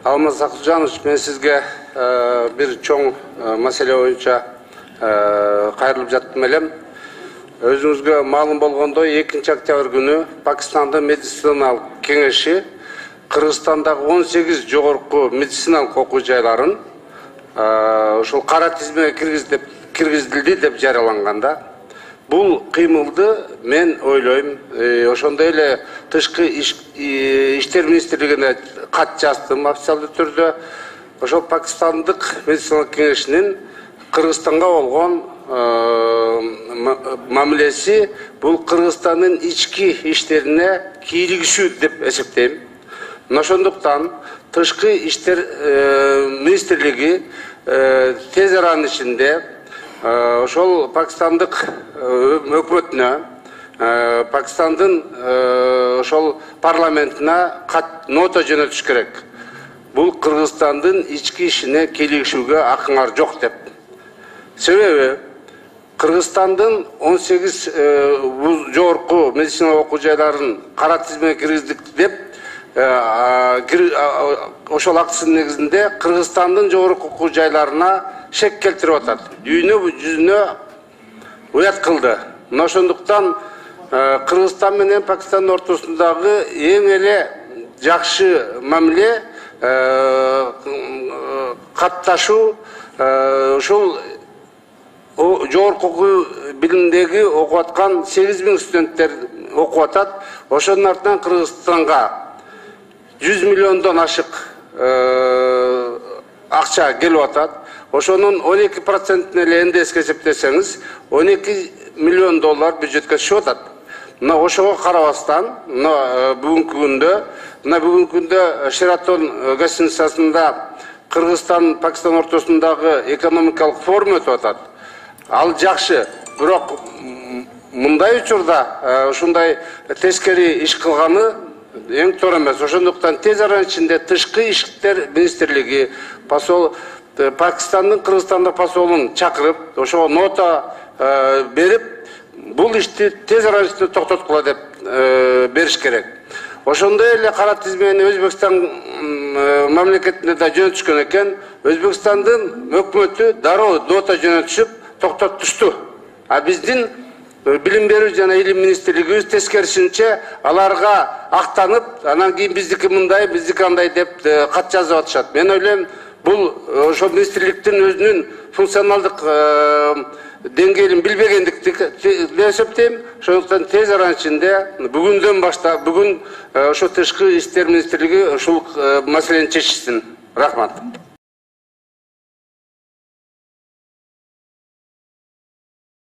Алмаз Акылжанович, мен сизге бир чоң маселе боюнча кайрылып жаттым элем. Өзүңүзгө маалым болгондой, 2 октябрь күнү Пакистандын медициналык кеңеши Кыргызстандагы 18 жогорку медициналык окуу жайларын ошол кара тизмеге киргизилди деп жарыяланганда, бул кыймылды мен ойлойм, ошондой эле тышкы иштер министрлигине кат жаздым официалдуу түрдө. Ошол Пакистандык медициналык кеңешинин Кыргызстанга болгон мамилеси бул Кыргызстандын ички иштерине кийлигишүү деп эсептейм. Ошондуктан тышкы иштер министрлиги тез аранын ичинде ошол Пакистандык өкмөтүнө, Пакистандын ошол парламентине нота жөнөтүш керек. Бул Кыргызстандын ички ишине кийлигишүүгө акыңар жок деп. Себеби Кыргызстандын 18 жогорку медициналык окуу жайларын кара тизмеге киргиздик деп ошол актысынын негизинде Кыргызстандын жогорку окуу жайларына шек келтирип атат. Дүйнө жүзүнө уят кылды. Ошондуктан Кыргызстан менен Пакистандын ортосундагы эң эле жакшы мамиле катташуу, ушул жогорку окуу билимдеги окуп аткан 8000 студенттер окуп атат. Ошонун артынан Кыргызстанга 100 миллиондон ашык акча келип атат. Ошонун 12% эле НДСке эсептесеңиз, 12 миллион доллар бюджетке түшүп атат. Мына ошого карабастан, бүгүнкү күндө Шератон гостиницасында Кыргызстан Пакистан ортосундагы экономикалык форум өтүп атат. Ал жакшы, бирок мындай учурда ушундай тескери иш кылганы эң туура эмес. Ошондуктан тез аранын ичинде тышкы иштер министрлиги Пакистандын Кыргызстанда посолун чакырып, ошого нота берип, бул ишти тез аранын ичинде токтоткула деп бериш керек. Ошондой эле кара тизмени Өзбекстан мамлекетине да жөнөтүшкөн экен. Өзбекстандын өкмөтү дароо нота жөнөтүшүп токтотушту. А биздин билим берүү жана илим министрлигибиз тескерисинче аларга актанып, анан кийин биздики мындай, биздики андай деп кат жазып атышат. Мен ойлойм, бул ошол министрликтин өзүнүн функционалдык деңгээлин билбегендикти деп эсептейм. Ошондуктан тез аранын ичинде бүгүн ошо тышкы иштер министрлиги ушул маселени чечишсин. Рахмат.